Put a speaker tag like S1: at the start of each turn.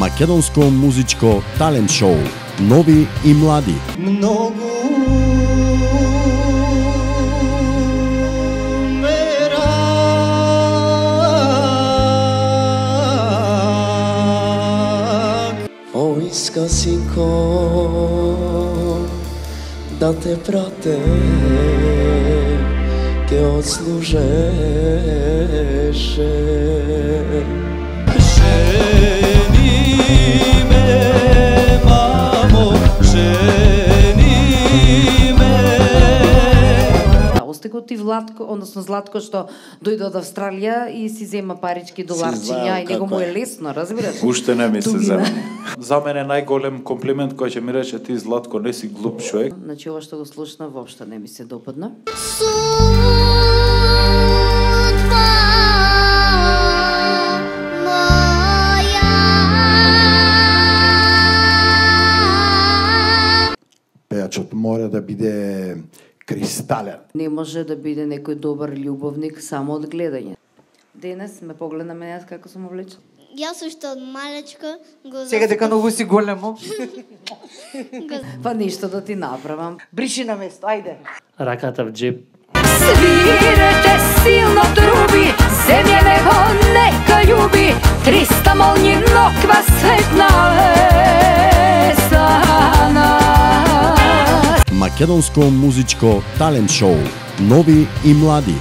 S1: Македонско музичко талент шоу. Нови и млади.
S2: Многу ме рак. Поиска синко да те прате, ке отслужеше. Жени ме, мамо, жени ме.
S3: Остегот и Владко, односно Златко, што дојде од Австралија и си зема парички доларчиња и него му е лесно, разбираш?
S4: Уште не ми се
S3: Тугина.
S4: зема. За мене најголем комплимент кој ќе ми рече ти, Златко, не си глуп човек.
S3: Значи ова што го слушна воопшто не ми се допадна.
S5: Пејачот мора да биде кристален.
S3: Не може да биде некој добар љубовник само од гледање. Денес ме погледна мене како сум облечена.
S6: Јас уште од малечка го
S7: Сега дека многу си големо.
S3: Па ништо да ти направам.
S7: Бриши на место, ајде.
S8: Раката в джеп.
S9: Свирете силно труби, земја него нека љуби, 300 молњи ноква светна е за нас.
S1: Македонско музичко талент шоу. Нови и млади.